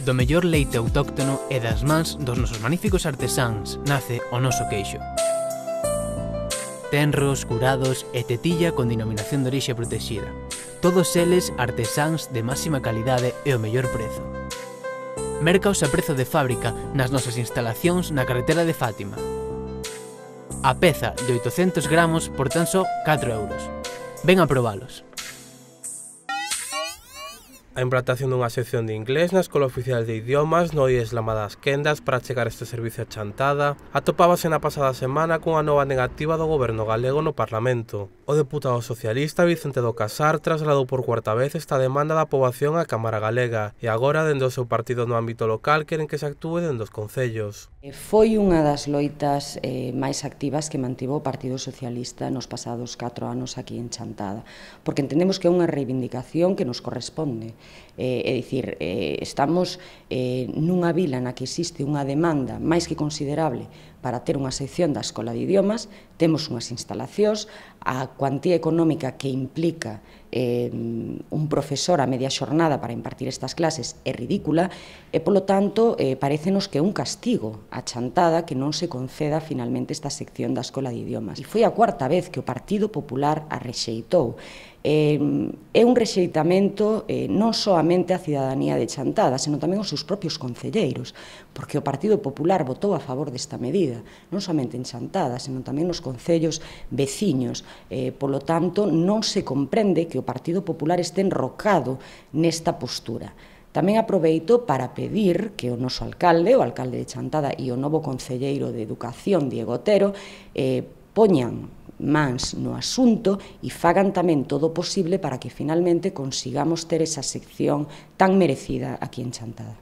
Do mellor leite autóctono e das mans dos nosos magníficos artesáns nace o noso queixo. Tenros, curados e tetilla con denominación de orixe protexida. Todos eles artesáns de máxima calidade e o mellor prezo. Mércaos a prezo de fábrica nas nosas instalacións na carretera de Fátima. A peza de 800 gramos por tan só 4 euros. Ven a probalos. A implantación dunha sección de inglés na Escola Oficial de Idiomas no IESLAMA das Quendas para chegar este servicio a Chantada atopábase na pasada semana cunha nova negativa do goberno galego no Parlamento. O deputado socialista Vicente do Casar trasladou por cuarta vez esta demanda da poboación á Cámara Galega e agora, dende o seu partido no ámbito local, queren que se actúe dende os concellos. Foi unha das loitas máis activas que mantivo o Partido Socialista nos pasados 4 anos aquí en Chantada, porque entendemos que é unha reivindicación que nos corresponde. É dicir, estamos nunha vila na que existe unha demanda máis que considerable para ter unha sección da Escola de Idiomas, temos unhas instalacións, a cuantía económica que implica un profesor a media xornada para impartir estas clases é ridícula e, polo tanto, parécenos que é un castigo a Chantada que non se conceda finalmente esta sección da Escola de Idiomas. E foi a cuarta vez que o Partido Popular a rexeitou. É un rexeitamento non soamente a cidadanía de Chantada, senón tamén os seus propios concelleiros, porque o Partido Popular votou a favor desta medida, non somente en Chantada, senón tamén nos concellos veciños. Polo tanto, non se comprende que o Partido Popular este enrocado nesta postura. Tamén aproveito para pedir que o noso alcalde, o alcalde de Chantada e o novo concelleiro de Educación, Diego Otero, poñan mans no asunto e fagan tamén todo o posible para que finalmente consigamos ter esa sección tan merecida aquí en Chantada.